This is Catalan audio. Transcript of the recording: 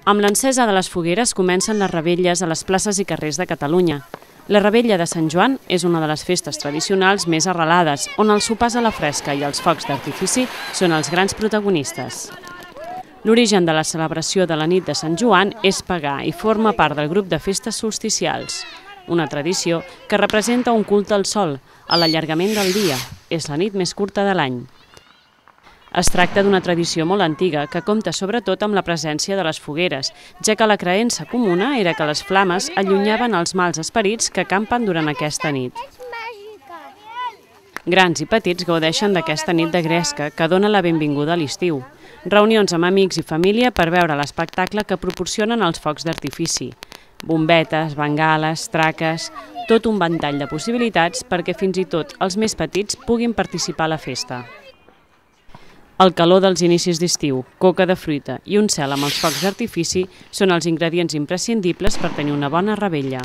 Amb l'encesa de les fogueres comencen les revetlles a les places i carrers de Catalunya. La revetlla de Sant Joan és una de les festes tradicionals més arrelades, on els sopars a la fresca i els focs d'artifici són els grans protagonistes. L'origen de la celebració de la nit de Sant Joan és pagà i forma part del grup de festes solsticials, una tradició que representa un culte al sol, a l'allargament del dia. És la nit més curta de l'any. Es tracta d'una tradició molt antiga que compta sobretot amb la presència de les fogueres, ja que la creença comuna era que les flames allunyaven els mals esperits que campen durant aquesta nit. Grans i petits gaudeixen d'aquesta nit de gresca que dona la benvinguda a l'estiu. Reunions amb amics i família per veure l'espectacle que proporcionen els focs d'artifici. Bombetes, bengales, traques, tot un ventall de possibilitats perquè fins i tot els més petits puguin participar a la festa. El calor dels inicis d'estiu, coca de fruita i un cel amb els focs d'artifici són els ingredients imprescindibles per tenir una bona revetlla.